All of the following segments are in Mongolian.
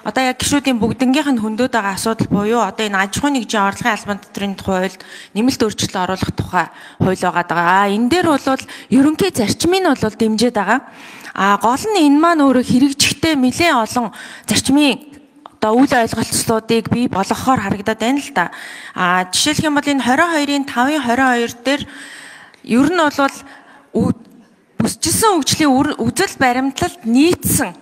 Одоо яг гишүүдийн бүгднгийнх нь хөндөд байгаа асуудал буюу одоо энэ аж ахуй нэгжийн орлогын албан татврын хууль нэмэлт өөрчлөлт оруулах тухай хууль байгаа. Энэ дээр бол ерөнхий зарчмыг нь бол дэмжиж байгаа. Гол нь энэ маань өөрөө хэрэгжихтэй нэлээд олон зарчмын одоо үйл ойлголцлуудыг бий болгохоор харагдаад байна л да. Жишээлх юм бол энэ 22-ын 5-22 дээр ер нь бол бүсчилсэн хөгжлийн үзэл баримтлалд нийцсэн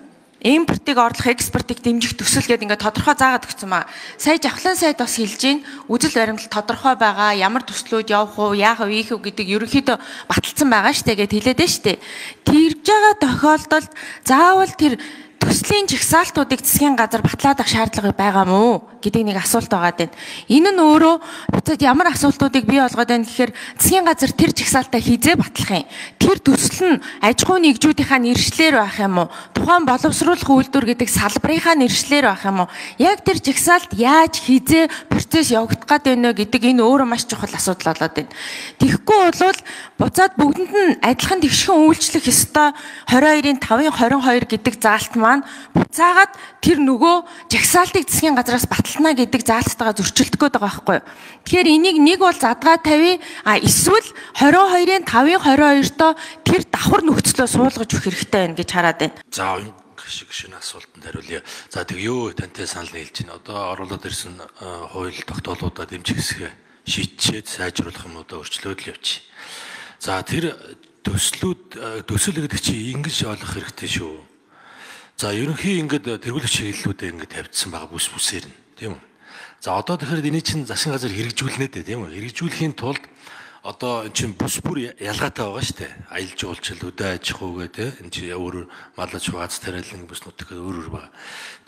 импортыг орлох экспортыг дэмжих төсөл гэдэг ингээд тодорхой заагаад өгсөн маа. Сая Жавхлан сайд бас хэлж гин үзэл баримтлал тодорхой байгаа, ямар төслүүд явах уу, яах вэ гэдэг ерөнхийдөө баталсан байгаа штэ гэд хэлээд байна штэ. Тэрж байгаа тохиолдолд заавал тэр төслийн жагсаалтуудыг засгийн газар батлаад авах шаардлага байгаа мó гэдэг нэг асуулт байгаа даа. Энэ нь өөрөө буцаад ямар асуултуудыг бий болгоод байна гэхээр засгийн газар тэр жагсаалтаа хизээ батлах юм. Тэр төсөл нь аж ахуй нэгжүүдийнхаа нэршлэр байх юм уу? Тухайн боловсруулах үйлдвэр гэдэг салбарынхаа нэршлэр байх юм уу? Яг тэр жагсаалт яаж хизээ процесс явагдах гээд байна вэ гэдэг энэ өөрөө маш чухал асуудал болоод байна. Тэгэхгүй бол буцаад бүгдэнд нь адилхан тэгшхэн үйлчлэх ёстой 22-ын 5-22 гэдэг заалт маань буцаагаад тэр нөгөө жагсаалтыг засгийн газраас батална гэдэг заалтайгаа зөрчилдөх гээд байгаа байхгүй юу. Тэгэхээр энийг нэг бол задгаа тавь, эсвэл 22-ын 5-22-то тэр давхар нөхцлөө суулгаж өгөх хэрэгтэй байна гэж хараад байна. За гişгшин асуултанд хариулъя. За тэг юу тантай санал нийлж байна. Одоо оруулаад ирсэн хууль тогтоолуудаа дэмжих хэсгээ шийдчихэд сайжруулах юм одоо өөрчлөлт л явчих. За тэр төсөл гэдэг чинь ингэж ойлгох хэрэгтэй шүү. За ерөнхий ингээд тэргүүлэх чиглэлүүдээ ингээд тавьдсан байгаа бүс бүсээр нь тийм үү. За одоо тэгэхээр энийг чинь засгийн газар хэрэгжүүлнэ дээ тийм үү. Хэрэгжүүлэхийн тулд одоо энэ чинь бүс бүр ялгаатай байгаа шүү дээ. Аялал жуулчлал, хөдөө аж ахуй гэдэг энэ чинь өөрөөр малаж хувац тариалан бүс нутаг өөр байгаа.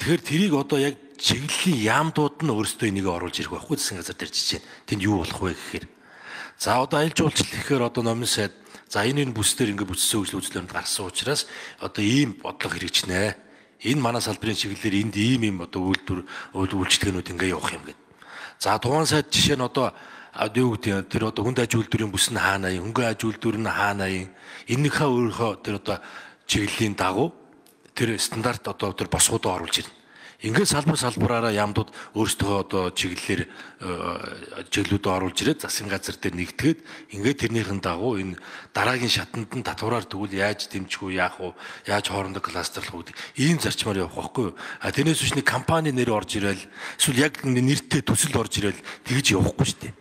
Тэгэхээр тэрийг одоо яг чиглэлийн яамдууд нь өөрсдөө энийг оруулж ирэх байхгүй засгийн газар дээр жижиг. Тэнд юу болох вэ гэхээр. За одоо аялал жуулчлал гэхээр одоо номын сайд за энэ бүсдэр ингээд бүтцийн хөгжил үзлэмж гарсан учраас одоо ийм бодлого хэрэгжнэ. Энэ манай салбарын чиглэлээр энд ийм одоо үйлчлэгнүүд ингээд явах юм гээд. За тухайн сайд жишээ нь одоо юу гэдэг тэр одоо хүнд аж үйлдвэрийн бүс нь хаана юм, хөнгөн аж үйлдвэр нь хаана юм. Энийхээ өөрийнхөө тэр одоо чиглэлийн дагуу тэр стандарт одоо тэр босгуудаа оруулж ирнэ. Ингээд салбараараа яамдууд өөрсдөө одоо чиглэлүүдээ оруулж ирээд засгийн газар дээр нэгтгээд ингээд тэрнийхэн дагуу энэ дараагийн шатанд нь татвараар тэгвэл яаж дэмжих үү, яах вэ, яаж хоорондоо кластерлах үү ийм зарчмаар явах байхгүй юу? Тэрнээс биш нэг компани нэр орж ирэл эсвэл яг нэртэй төсөл орж ирэл тэгж явахгүй шүү дээ.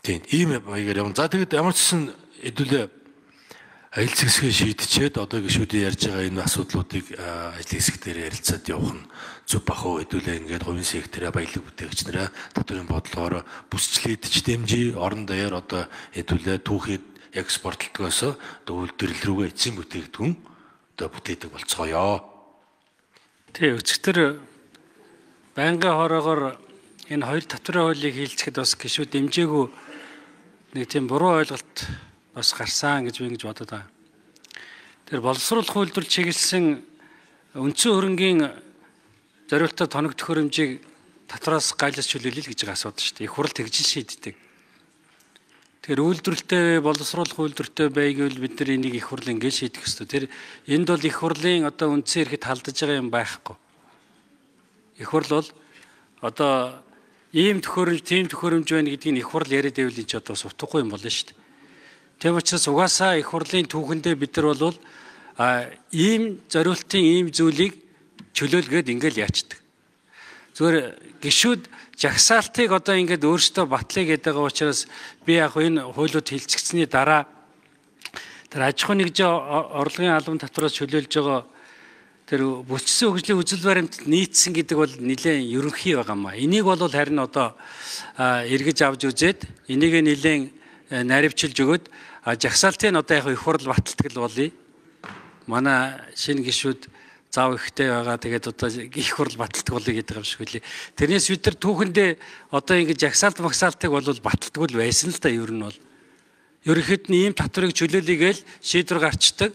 Тийм ийм маягаар явна. За тэгэд ямар ч гэсэн хэдүүлээ аялал хэсгээ шийдчихэд одоо гишүүдийн ярьж байгаа энэ асуудлуудыг ажил хэсэг дээр ярилцаад явах нь зөв бахуу хэдүүлээ ингээд хувийн сектораа баялаг бүтээгч нараа татварын бодлогоор бүсчлээдч дэмжиж орон даяар одоо хэдүүлээ түүхийд экспортлтгоос үйлдвэрлэл рүүгээ эцсийн бүтээгдэхүүн одоо бүтээдэг болцгоё. Тэг өчигдөр байнгын хороогоор энэ хоёр татварын хуулийг хийлцэхэд бас гишүүд дэмжээгүй нэг тийм буруу ойлголт бас гарсан гэж би ингэж бодод байгаа. Тэр боловсруулах үйлдвэр чиглэсэн үндсэн хөрөнгийн зориултад тоног төхөөрөмжийг татвараас гайлж чөлөөлөл гэж байгаа асуудал шүү дээ. Их хурл тэгжин шийддэг. Тэгэхээр үйлдвэрлэлтэй боловсруулах үйлдвэртэй байвал бид нар энийг их хурл ингэж шийдэх ёстой. Тэр энд бол их хурлын одоо үндсэн эрхэд халдаж байгаа юм байхгүй. Их хурл бол одоо ийм төхөөрөмж, тийм төхөөрөмж байна гэдгийг их хурл яриад байвал энэ ч одоо сутгахгүй юм болно шүү дээ. Тийм учраас угаасаа их хурлын түүхэндээ бид нар бол ийм зориултын ийм зүйлийг чөлөөлгээд ингээл яачдаг. Зүгээр гишүүд жагсаалтыг одоо ингээд өөрсдөө батлая гэдэг байгаа учраас би яг энэ хуулиуд хилцэгдсэний дараа тэр аж ахуй нэгжийн орлогын албан татвараас чөлөөлж байгаа тэр бүсчилсэн хөгжлийн үзэл баримталд нийцсэн гэдэг бол нэлээд ерөнхий байгаа маа. Энийг бол харин одоо эргэж авч үзээд энийг нэлээд наривчилж өгöd жагсаалтын одоо яг их хурл баталдаг л болъё. Манай шинэ гишүүд зав ихтэй байгаа. Тэгээд одоо их хурл баталдаг болъё гэдэг юм шиг үлээ. Тэрнээс бид нар түүхэндээ одоо ингэ жагсаалт магсаалтыг бол баталдаг л байсан л да ер нь бол. Ерөнхийд нь ийм татварыг чөлөөлөйгээл шийдвэр гарчдаг.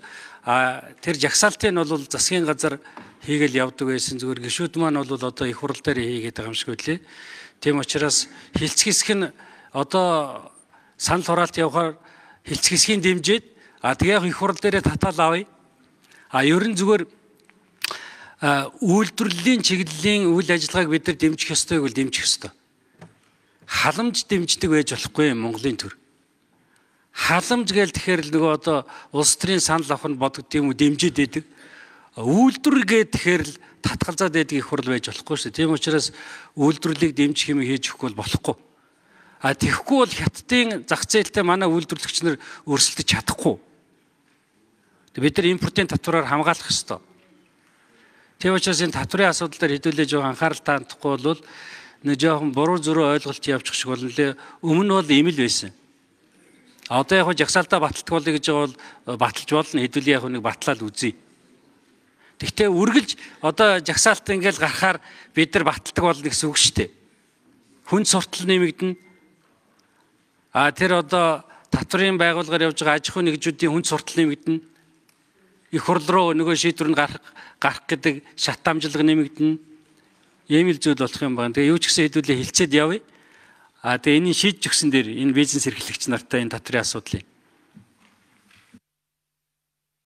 Тэр жагсаалтыг нь бол засгийн газар хийгээл явдаг байсан. Зүгээр гишүүд маань бол одоо их хурл дээр хийгээд байгаа юм шиг үлээ. Тийм учраас хилцэх хэсэг нь одоо санал хураалт явахаар хилцэх хэсгийн дэмжиж тэгээ их хурл дээрээ татаал авъя. Ер нь зүгээр үйлдвэрлэлийн чиглэлийн үйл ажиллагааг бид нар дэмжих ёстой гэвэл дэмжих ёстой. Халамж дэмждэг байж болохгүй Монголын төр. Халамж гээл тэгэхээр л нөгөө одоо улс төрийн санал авах нь бодогд юм уу дэмжиж идэг. Үйлдвэр гээд тэгэхээр л татгалзаад байдаг их хурл байж болохгүй шүү. Тийм учраас үйлдвэрлэлийг дэмжих юм хийж өгөхгүй бол болохгүй. Тэгэхгүй бол хятадын зах зээлтэй манай үйлдвэрлэгч нар өрсөлдөж чадахгүй. Бид нар импортын татвараар хамгаалах ёстой. Тийм учраас энэ татврын асуудал дээр хэдүүлээ жоо анхаарал таандахгүй бол нэг жоохон буруу зөрөө ойлголт явуучих шиг болно лээ. Өмнө нь бол ийм л байсан. Одоо яг жагсаалтаа баталдаг болъё гэж байгаа бол баталж болно. Хэдүүлээ яг нэг батлаад үзье. Тэгтээ үргэлж одоо жагсаалт ингээл гарахаар бид нар баталдаг болно гэсэн үг шүү дээ. Хүн суртал нэмэгдэнэ. Тэр одоо татврын байгууллагаар явж байгаа аж ахуйн нэгжүүдийн хүн суртал нэмэгдэнэ. Их хурл руу нөгөө шийдвэр нь гарах гэдэг шат амжилга нэмэгдэнэ. Ийм л зүйл болох юм байна. Тэгээ юу ч гэсэн хэдүүлээ хилцээд явъя. Тэгээ энийг шийдэж өгсөн дээр энэ бизнес эрхлэгч нартай энэ татврын асуудлыг